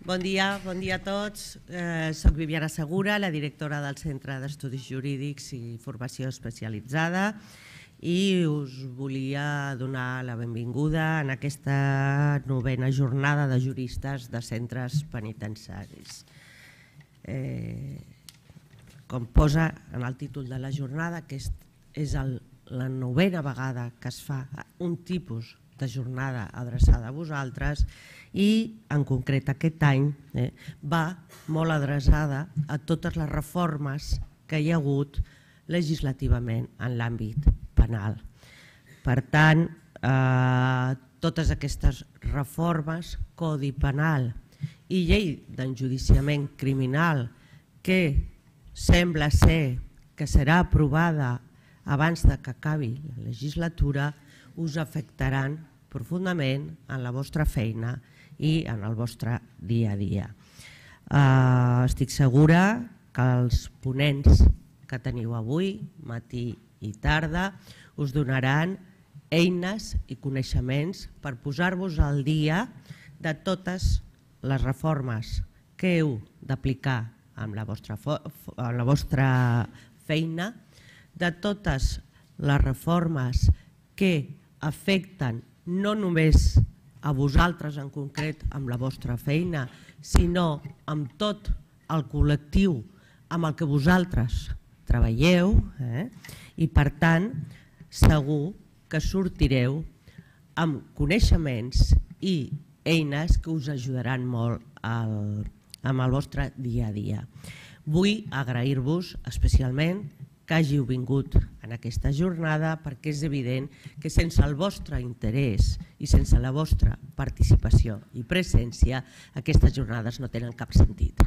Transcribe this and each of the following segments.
Bon dia a tots. Soc Viviana Segura, la directora del Centre d'Estudis Jurídics i Formació Especialitzada, i us volia donar la benvinguda en aquesta 9a jornada de juristes de centres penitenciaris. Com posa en el títol de la jornada, que és la 9a vegada que es fa un tipus de jornada adreçada a vosaltres, i en concret aquest any va molt adreçada a totes les reformes que hi ha hagut legislativament en l'àmbit penal. Per tant, totes aquestes reformes, Codi Penal i Llei d'Enjudiciament Criminal, que sembla ser que serà aprovada abans que acabi la legislatura, us afectaran profundament en la vostra feina i en el vostre dia a dia. Estic segura que els ponents que teniu avui, matí i tarda, us donaran eines i coneixements per posar-vos al dia de totes les reformes que heu d'aplicar en la vostra feina, de totes les reformes que afecten no només a vosaltres en concret amb la vostra feina, sinó amb tot el col·lectiu amb el que vosaltres treballeu, i per tant segur que sortireu amb coneixements i eines que us ajudaran molt amb el vostre dia a dia. Vull agrair-vos especialment que hàgiu vingut en aquesta jornada, perquè és evident que sense el vostre interès i sense la vostra participació i presència, aquestes jornades no tenen cap sentit.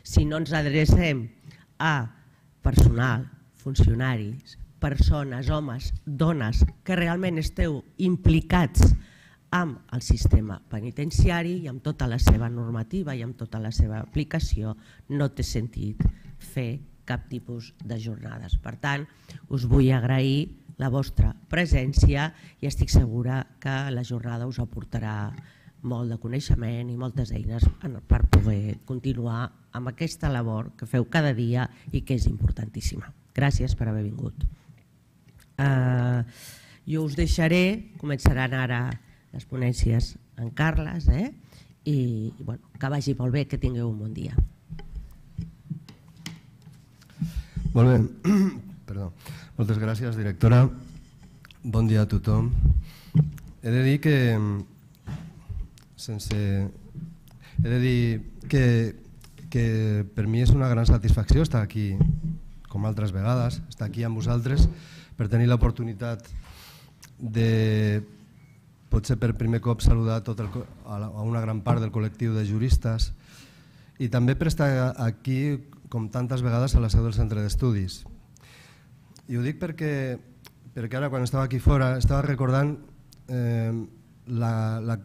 Si no ens adrecem a personal, funcionaris, persones, homes, dones, que realment esteu implicats amb el sistema penitenciari i amb tota la seva normativa i amb tota la seva aplicació, no té sentit fer cap tipus de jornades. Per tant, us vull agrair la vostra presència i estic segura que la jornada us aportarà molt de coneixement i moltes eines per poder continuar amb aquesta labor que feu cada dia i que és importantíssima. Gràcies per haver vingut. Jo us deixaré, començaran ara les ponències en Carles, i que vagi molt bé, que tingueu un bon dia. Molt bé, perdó. Moltes gràcies, directora. Bon dia a tothom. He de dir que per mi és una gran satisfacció estar aquí, com altres vegades, estar aquí amb vosaltres per tenir l'oportunitat de, potser per primer cop, saludar a una gran part del col·lectiu de juristes i també per estar aquí com tantes vegades a la seu del centre d'estudis. I ho dic perquè ara, quan estava aquí fora, estava recordant la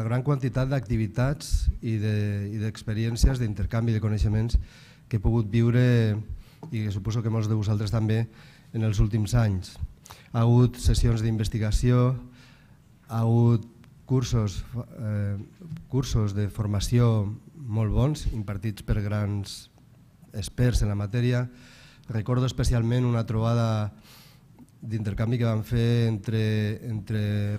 gran quantitat d'activitats i d'experiències, d'intercanvi de coneixements que he pogut viure, i que suposo que molts de vosaltres també, en els últims anys. Ha hagut sessions d'investigació, ha hagut cursos de formació molt bons, impartits per grans experts en la matèria. Recordo especialment una trobada d'intercanvi que vam fer entre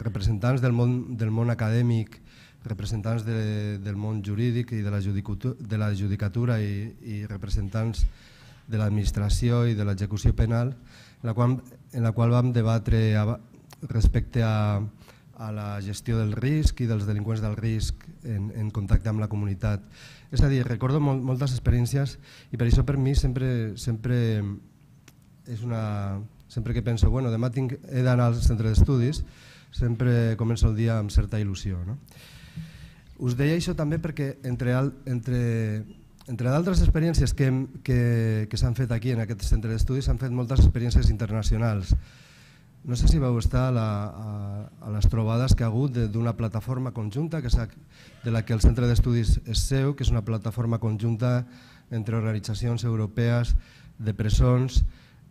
representants del món acadèmic, representants del món jurídic i de la judicatura i representants de l'administració i de l'execució penal, en la qual vam debatre respecte a la gestió del risc i dels delinqüents del risc en contacte amb la comunitat. És a dir, recordo moltes experiències i per això per mi sempre que penso, demà he d'anar al centre d'estudis, sempre començo el dia amb certa il·lusió. Us deia això també perquè entre d'altres experiències que s'han fet aquí en aquest centre d'estudis s'han fet moltes experiències internacionals. No sé si vau estar a les trobades que ha hagut d'una plataforma conjunta de la que el centre d'estudis és seu, que és una plataforma conjunta entre organitzacions europees de presons,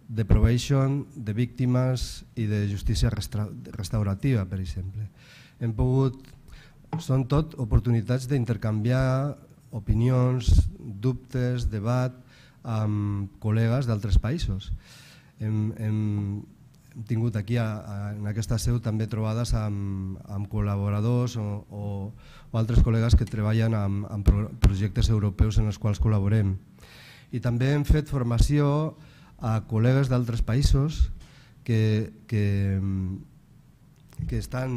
de probation, de víctimes i de justícia restaurativa, per exemple. Hem pogut són tot oportunitats d'intercanviar opinions, dubtes, debat amb col·legues d'altres països. Hem tingut aquí en aquesta seu també trobades amb col·laboradors o altres col·legues que treballen en projectes europeus en els quals col·laborem. I també hem fet formació a col·legues d'altres països que estan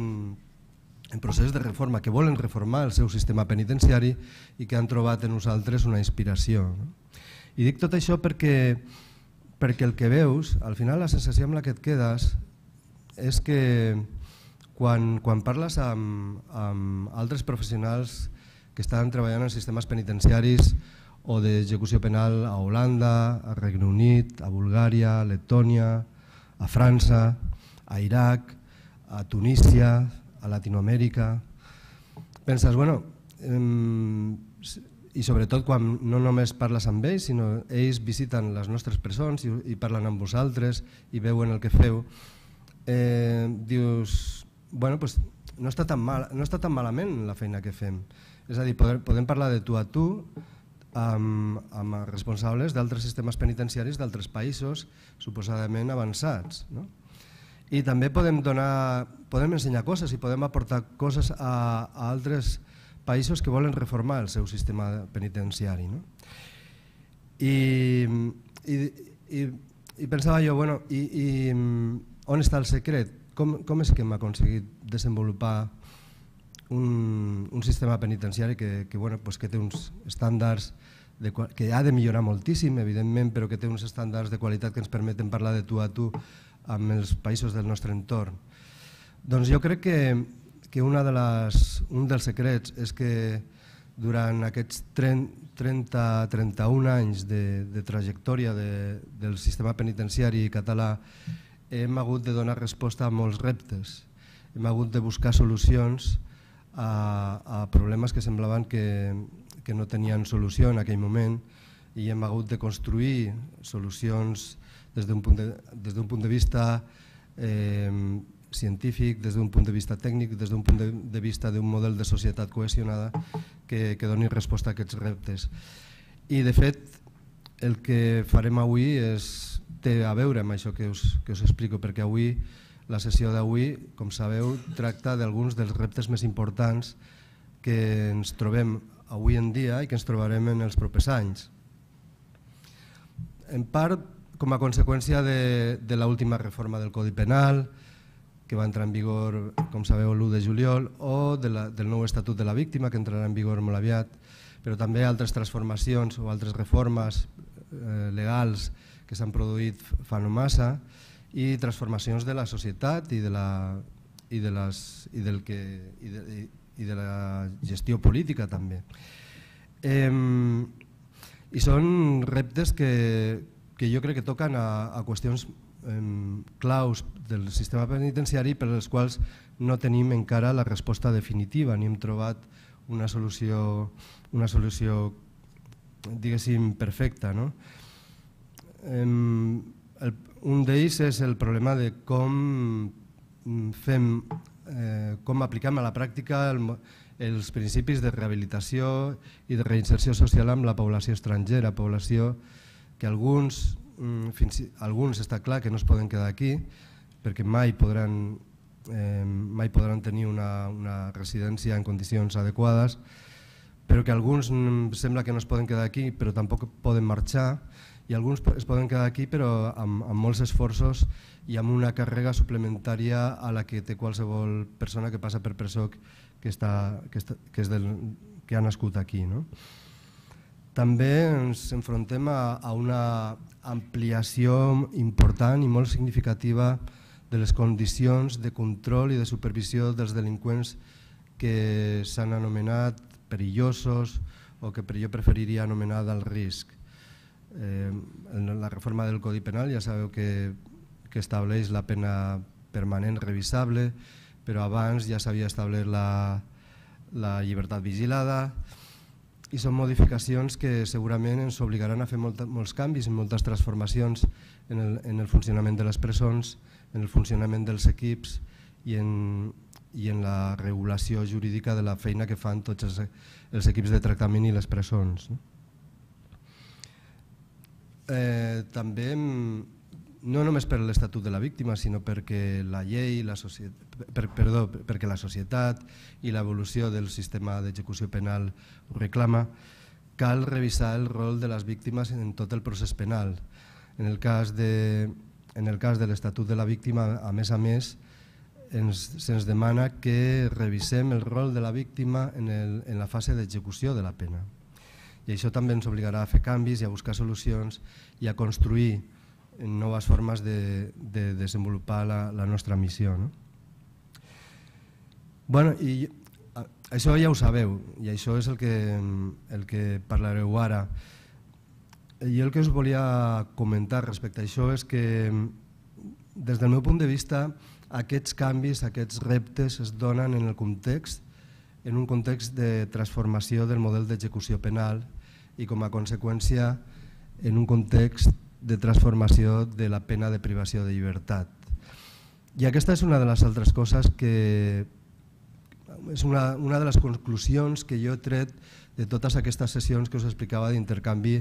en procés de reforma, que volen reformar el seu sistema penitenciari i que han trobat en nosaltres una inspiració. I dic tot això perquè el que veus, al final la sensació amb la que et quedes és que quan parles amb altres professionals que estan treballant en sistemes penitenciaris o d'execució penal a Holanda, a Regne Unit, a Bulgària, a Letònia, a França, a Iraq, a Tunísia, a Latinoamèrica, penses, bueno, i sobretot quan no només parles amb ells, sinó ells visiten les nostres presons i parlen amb vosaltres i veuen el que feu, dius, bueno, pues no està tan malament la feina que fem. És a dir, podem parlar de tu a tu amb responsables d'altres sistemes penitenciaris d'altres països suposadament avançats, no? I també podem ensenyar coses i podem aportar coses a altres països que volen reformar el seu sistema penitenciari. I pensava jo, bueno, i on està el secret? Com és que hem aconseguit desenvolupar un sistema penitenciari que té uns estàndards que ha de millorar moltíssim, evidentment, però que té uns estàndards de qualitat que ens permeten parlar de tu a tu amb els països del nostre entorn? Doncs jo crec que un dels secrets és que durant aquests 30-31 anys de trajectòria del sistema penitenciari català hem hagut de donar resposta a molts reptes. Hem hagut de buscar solucions a problemes que semblaven que no tenien solució en aquell moment i hem hagut de construir solucions des d'un punt de vista científic, des d'un punt de vista tècnic, des d'un punt de vista d'un model de societat cohesionada que doni resposta a aquests reptes. I de fet el que farem avui té a veure amb això que us explico, perquè avui, la sessió d'avui, com sabeu, tracta d'alguns dels reptes més importants que ens trobem avui en dia i que ens trobarem en els propers anys. En part, com a conseqüència de l'última reforma del Codi Penal, que va entrar en vigor, com sabeu, l'1 de juliol, o del nou Estatut de la Víctima, que entrarà en vigor molt aviat, però també altres transformacions o altres reformes legals que s'han produït fa no massa, i transformacions de la societat i de la gestió política també. I són reptes que jo crec que toquen a qüestions claus del sistema penitenciari per als quals no tenim encara la resposta definitiva ni hem trobat una solució diguéssim perfecta. Un d'ells és el problema de com aplicam a la pràctica els principis de rehabilitació i de reinserció social amb la població estrangera, població que alguns està clar que no es poden quedar aquí perquè mai podran tenir una residència en condicions adequades, però que alguns sembla que no es poden quedar aquí però tampoc poden marxar, i alguns es poden quedar aquí però amb molts esforços i amb una càrrega suplementària a la que té qualsevol persona que passa per presó que ha nascut aquí. També ens enfrontem a una ampliació important i molt significativa de les condicions de control i de supervisió dels delinqüents que s'han anomenat perillosos o que jo preferiria anomenar d'alt risc. La reforma del Codi Penal ja sabeu que estableix la pena permanent revisable, però abans ja s'havia establert la llibertat vigilada, i són modificacions que segurament ens obligaran a fer molts canvis i moltes transformacions en el funcionament de les presons, en el funcionament dels equips i en i en la regulació jurídica de la feina que fan tots els equips de tractament i les presons. També, no només per l'Estatut de la Víctima, sinó perquè la llei, perquè la societat i l'evolució del sistema d'execució penal ho reclama, cal revisar el rol de les víctimes en tot el procés penal. En el cas de l'Estatut de la Víctima, a més, se'ns demana que revisem el rol de la víctima en la fase d'execució de la pena. I això també ens obligarà a fer canvis i a buscar solucions i a construir noves formes de desenvolupar la nostra missió. I això ja ho sabeu, i això és el que parlareu ara. Jo el que us volia comentar respecte a això és que, des del meu punt de vista, aquests canvis, aquests reptes es donen en un context de transformació del model d'execució penal i, com a conseqüència, en un context de transformació de la pena de privació de llibertat. I aquesta és una de les altres coses que és una de les conclusions que jo he tret de totes aquestes sessions que us explicava d'intercanvi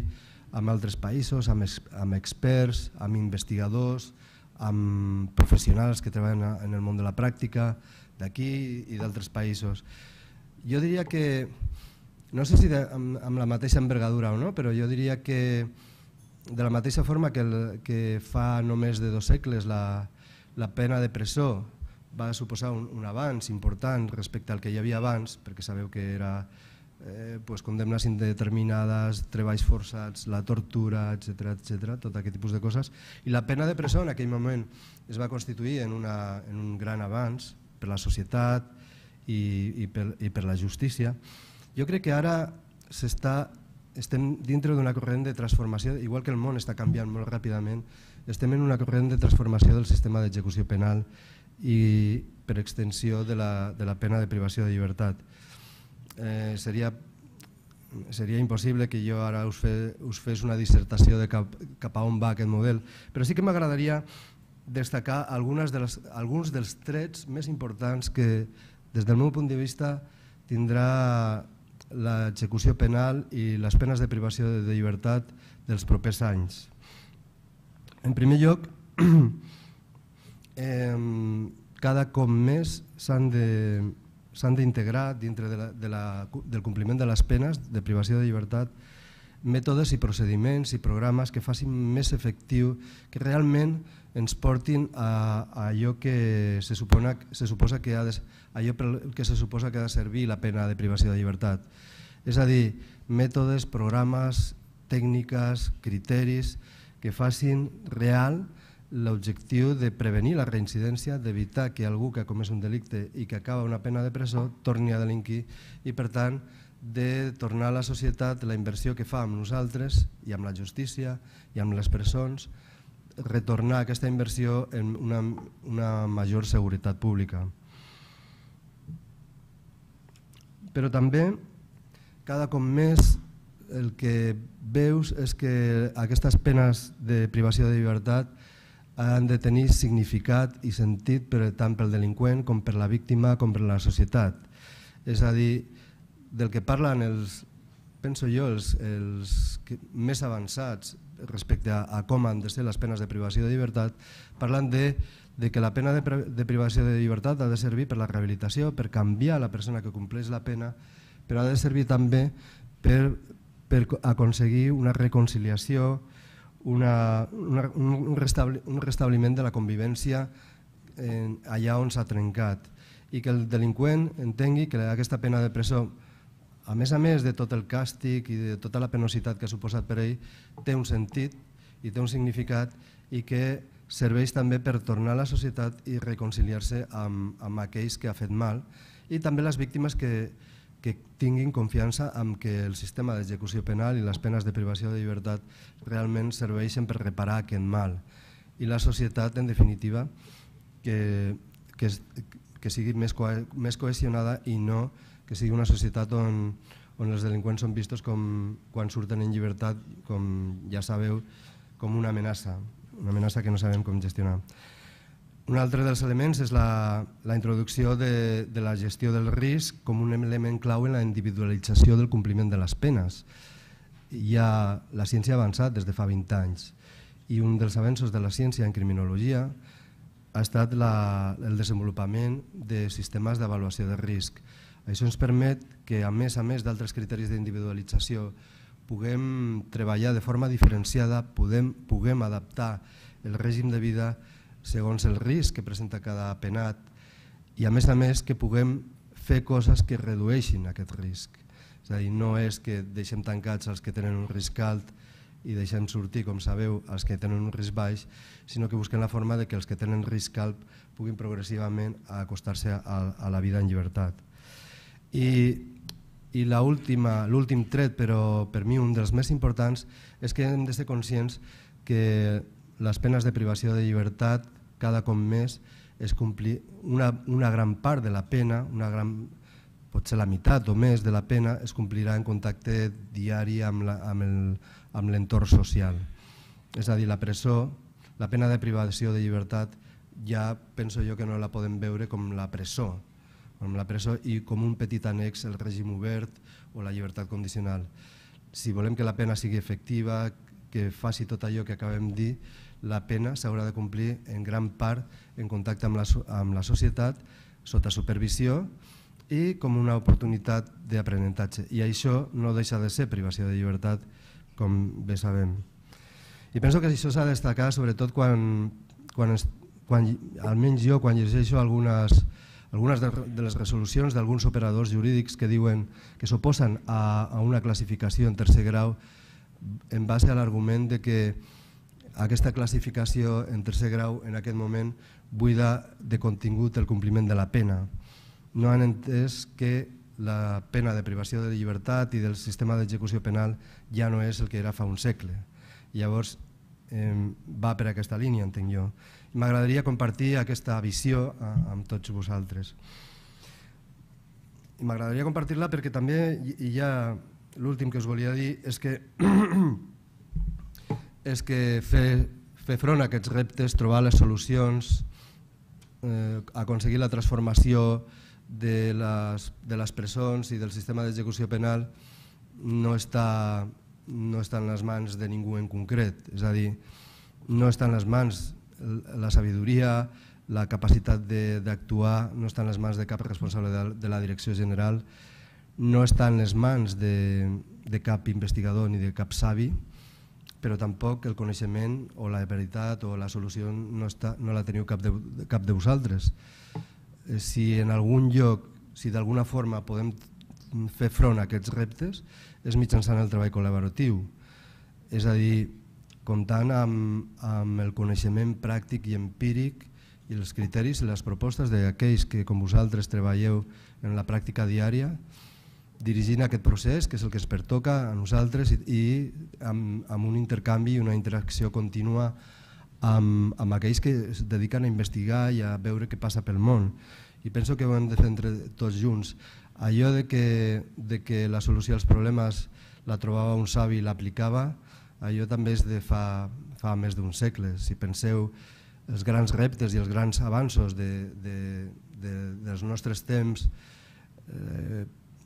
amb altres països, amb experts, amb investigadors, amb professionals que treballen en el món de la pràctica d'aquí i d'altres països. Jo diria que, no sé si amb la mateixa envergadura o no, però jo diria que de la mateixa forma que fa només de 2 segles la pena de presó va suposar un avanç important respecte al que hi havia abans, perquè sabeu que era condemnes indeterminades, treballs forçats, la tortura, etc., tot aquest tipus de coses. I la pena de presó en aquell moment es va constituir en un gran avanç per la societat i per la justícia. Jo crec que ara estem dintre d'una corrent de transformació, igual que el món està canviant molt ràpidament, estem en una corrent de transformació del sistema d'execució penal i per extensió de la pena de privació de llibertat. Seria impossible que jo ara us fes una dissertació de cap a on va aquest model, però sí que m'agradaria destacar alguns dels trets més importants que, des del meu punt de vista, tindrà l'execució penal i les penes de privació de llibertat dels propers anys. En primer lloc, cada cop més s'han d'integrar dintre del compliment de les penes de privació de llibertat mètodes i procediments i programes que facin més efectiu, que realment ens portin a allò que se suposa que ha de servir la pena de privació de llibertat. És a dir, mètodes, programes, tècniques, criteris que facin real l'objectiu de prevenir la reincidència, d'evitar que algú que ha comès un delicte i que acaba una pena de presó torni a delinquir i, per tant, de tornar a la societat la inversió que fa amb nosaltres i amb la justícia i amb les presons, retornar aquesta inversió en una major seguretat pública. Però també, cada cop més, el que veus és que aquestes penes de privació de llibertat han de tenir significat i sentit tant pel delinqüent com per la víctima com per la societat. És a dir, del que parlen penso jo, els més avançats respecte a com han de ser les penes de privació de llibertat, parlen de que la pena de privació de llibertat ha de servir per la rehabilitació, per canviar la persona que compleix la pena, però ha de servir també per aconseguir una reconciliació, un restabliment de la convivència allà on s'ha trencat, i que el delinqüent entengui que aquesta pena de presó, a més de tot el càstig i de tota la penositat que ha suposat per ell, té un sentit i té un significat i que serveix també per tornar a la societat i reconciliar-se amb aquells que ha fet mal, i també les víctimes que tinguin confiança en que el sistema d'execució penal i les penes de privació de llibertat realment serveixen per reparar aquest mal. I la societat, en definitiva, que sigui més cohesionada i no que sigui una societat on els delinqüents són vistos quan surten en llibertat, com ja sabeu, com una amenaça que no sabem com gestionar. Un altre dels elements és la introducció de la gestió del risc com un element clau en la individualització del compliment de les penes. La ciència ha avançat des de fa 20 anys i un dels avenços de la ciència en criminologia ha estat el desenvolupament de sistemes d'avaluació de risc. Això ens permet que, a més d'altres criteris d'individualització, puguem treballar de forma diferenciada, puguem adaptar el règim de vida segons el risc que presenta cada penat i, a més, que puguem fer coses que redueixin aquest risc. És a dir, no és que deixem tancats els que tenen un risc alt i deixem sortir, com sabeu, els que tenen un risc baix, sinó que busquem la forma de que els que tenen risc alt puguin progressivament acostar-se a la vida en llibertat. I l'últim tret, però per mi un dels més importants, és que hem de ser conscients que les penes de privació de llibertat cada cop més es complir una gran part de la pena, potser la meitat o més de la pena es complirà en contacte diari amb l'entorn social. És a dir, la presó, la pena de privació de llibertat, ja penso jo que no la podem veure com la presó i com un petit annex el règim obert o la llibertat condicional. Si volem que la pena sigui efectiva, que faci tot allò que acabem de dir, la pena s'haurà de complir en gran part en contacte amb la societat, sota supervisió i com una oportunitat d'aprenentatge. I això no deixa de ser privació de llibertat, com bé sabem. I penso que això s'ha de destacar sobretot quan almenys jo, quan llegeixo algunes de les resolucions d'alguns operadors jurídics que diuen que s'oposen a una classificació en tercer grau en base a l'argument de que aquesta classificació en tercer grau en aquest moment buida de contingut el compliment de la pena. No han entès que la pena de privació de llibertat i del sistema d'execució penal ja no és el que era fa un segle. Llavors va per aquesta línia, entenc jo. M'agradaria compartir aquesta visió amb tots vosaltres. I m'agradaria compartir-la perquè també hi ha l'últim que us volia dir és que fer front a aquests reptes, trobar les solucions, aconseguir la transformació de les presons i del sistema d'execució penal no està en les mans de ningú en concret. És a dir, no està en les mans la sabidoria, la capacitat d'actuar, no està en les mans de cap responsable de la direcció general, no està en les mans de cap investigador ni de cap savi, però tampoc el coneixement o la veritat o la solució no la teniu cap de vosaltres. Si en algun lloc, si d'alguna forma podem fer front a aquests reptes, és mitjançant el treball col·laboratiu. És a dir, comptant amb el coneixement pràctic i empíric i els criteris i les propostes d'aquells que, com vosaltres, treballeu en la pràctica diària, dirigint aquest procés, que és el que ens pertoca a nosaltres, i amb un intercanvi i una interacció contínua amb aquells que es dediquen a investigar i a veure què passa pel món. I penso que ho hem de fer entre tots junts. Allò de que la solució als problemes la trobava un savi i l'aplicava, allò també és de fa més d'un segle. Si penseu els grans reptes i els grans avanços dels nostres temps,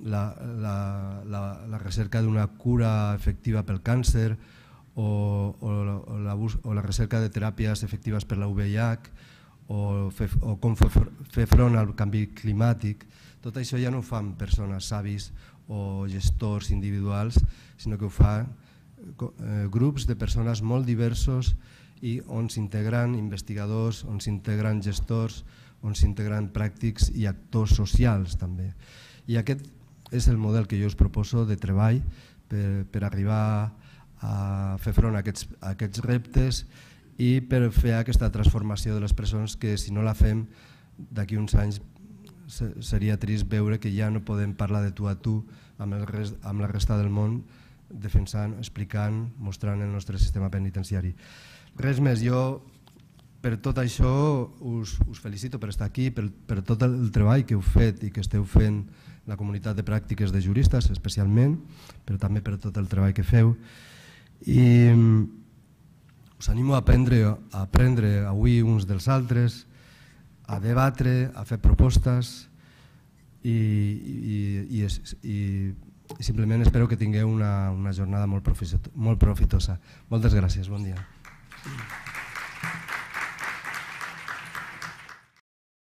la recerca d'una cura efectiva pel càncer o la recerca de teràpies efectives per la VIH o com fer front al canvi climàtic, tot això ja no ho fan persones savis o gestors individuals, sinó que ho fan grups de persones molt diversos i on s'integren investigadors, on s'integren gestors, on s'integren pràctics i actors socials també. I aquest és el model que jo us proposo de treball per arribar a fer front a aquests reptes i per fer aquesta transformació de les presons que, si no la fem, d'aquí uns anys seria trist veure que ja no podem parlar de tu a tu amb la resta del món, defensant, explicant, mostrant el nostre sistema penitenciari. Res més, jo per tot això us felicito per estar aquí, per tot el treball que heu fet i que esteu fent la comunitat de pràctiques de juristes especialment, però també per tot el treball que feu. I us animo a aprendre avui uns dels altres, a debatre, a fer propostes i simplement espero que tingueu una jornada molt profitosa. Moltes gràcies, bon dia.